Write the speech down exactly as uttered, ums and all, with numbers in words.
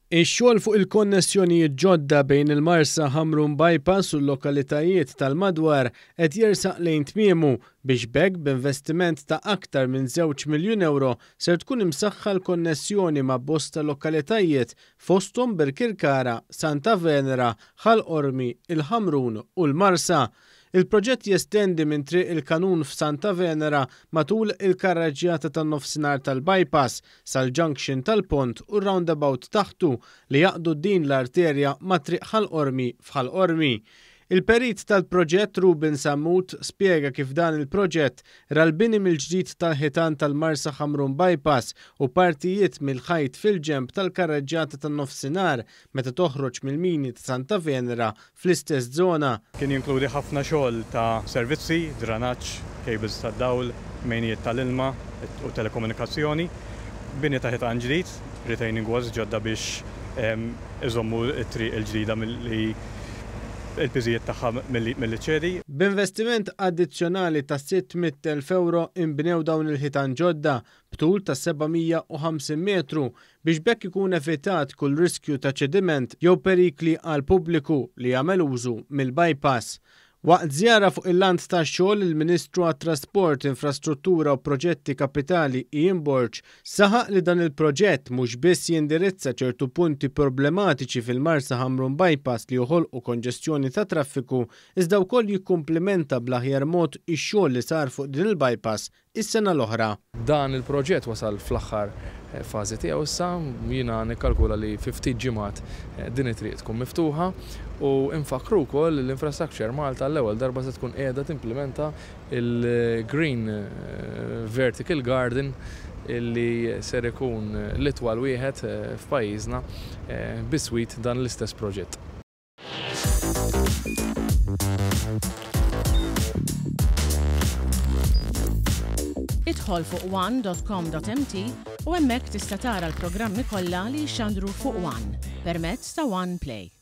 Ix-xogħol fuq il-konnessjonijiet ġodda bejn il-Marsa Ħamrun Bypass u l-lokalitajiet tal-madwar qed jersaq lejn tmiemu biex b'hekk b'investiment ta' aktar minn żewġ miljun euro ser tkun imsaħħa l-konnessjoni ma' bosta lokalitajiet fosthom Birkirkara, Santa Venera, Ħal Qormi, il-Ħamrun u l-Marsa. Il-proġett jestendi minn Triq il-Kanun f'Santa Venera matul il-karreġġjata tan-nofsinhar tal-bypass sal-junction tal-pont u roundabout taħtu li jgħaqqdu din l-arterja ma' Triq Ħal Qormi f'Ħal Qormi. Il-perit tal-proġett Ruben Sammut spiega kif dan il-proġett ra l-bini mill-ġdid tal-ħitan tal-Marsa Ħamrun Bypass u partijiet mill-ħajt fil-ġemb tal-karreġġjata tan-nofsinhar meta toħroġ mill-mini ta' Santa Venera fl-istess żona. Kien jinkludi ħafna xogħol ta' servizzi, dranaġġ, cables tad-dawl, mejnijiet tal-ilma u telekomunikazzjoni, bini ta' ħitan ġdid, retaining walls ġodda biex iżommu t-triq il-ġdida milli il-piżijiet tagħha milli ċċedi. B'investiment addizzjonali ta' sitt mitt elf euro inbnew dawn il-ħitan ġodda b'tul ta' seba' mija u ħamsin metru biex b'hekk ikun evitat kull riskju ta' ċediment jew perikli għal pubbliku li jagħmel użu mill-bypass. Waqt żjara fuq il-lant tax-xogħol, il-Ministru għat-Trasport, Infrastruttura u Proġetti Kapitali Ian Borg saħaq li dan il-proġett mhux biss jindirizza ċertu punti problematiċi fil-Marsa Ħamrun Bypass li joħolqu konġestjoni ta' traffiku, iżda wkoll jikkumplimenta bl-aħjar mod ix-xogħol li sar fuq din il-bypass is-sena l-oħra. Dan il-proġett wasal fl-aħħar fażi tiegħu issa, jiena nikkalkula li fi ftit ġimgħat din it-triq tkun miftuħa u nfakru wkoll li l-Infrastructure Malta l-ewwel darba se tkun qiegħda timplementa il-Green Vertical Garden illi ser ikun l-itwal wieħed f'pajjiżna biswit dan l-istess proġett. Idħol fuq one dot com dot m t u hemmhekk tista' tara l-programmi kollha li jxandru fuq One permezz ta' One Play.